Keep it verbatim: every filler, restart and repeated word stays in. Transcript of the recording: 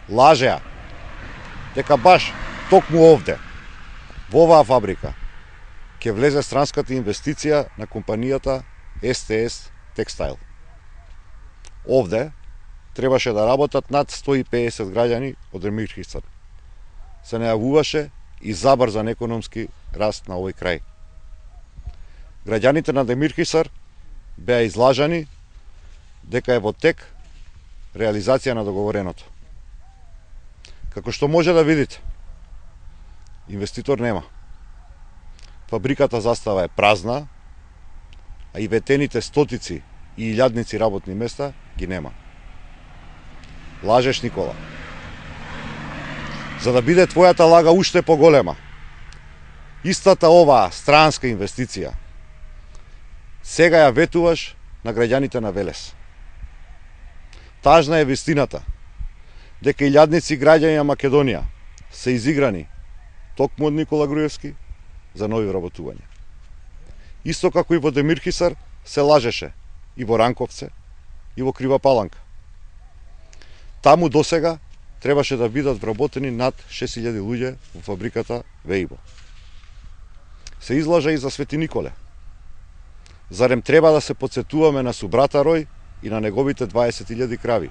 лажеа дека баш токму овде, во оваа фабрика, ќе влезе странската инвестиција на компанијата Ес Те Ес Текстайл. Овде требаше да работат над сто и педесет граѓани од Демирхисар. Се најавуваше и забрзан економски раст на овој крај. Граѓаните на Демирхисар беа излажани дека е во тек реализација на договореното. Како што може да видите, инвеститор нема. Фабриката застава е празна, а и ветените стотици и илјадници работни места ги нема. Лажеш, Никола. За да биде твојата лага уште поголема, истата оваа странска инвестиција сега ја ветуваш на граѓаните на Велес. Тажна е вистината дека илјадници граѓани на Македонија се изиграни токму од Никола Груевски за нови вработувања. Исто како и во Демирхисар се лажеше и во Ранковце и во Крива Паланка. Таму досега требаше да бидат вработени над шест илјади луѓе во фабриката Вејбо. Се излажа и за Свети Николе. Зарем треба да се подсетуваме на субрата Рој и на неговите дваесет илјади крави?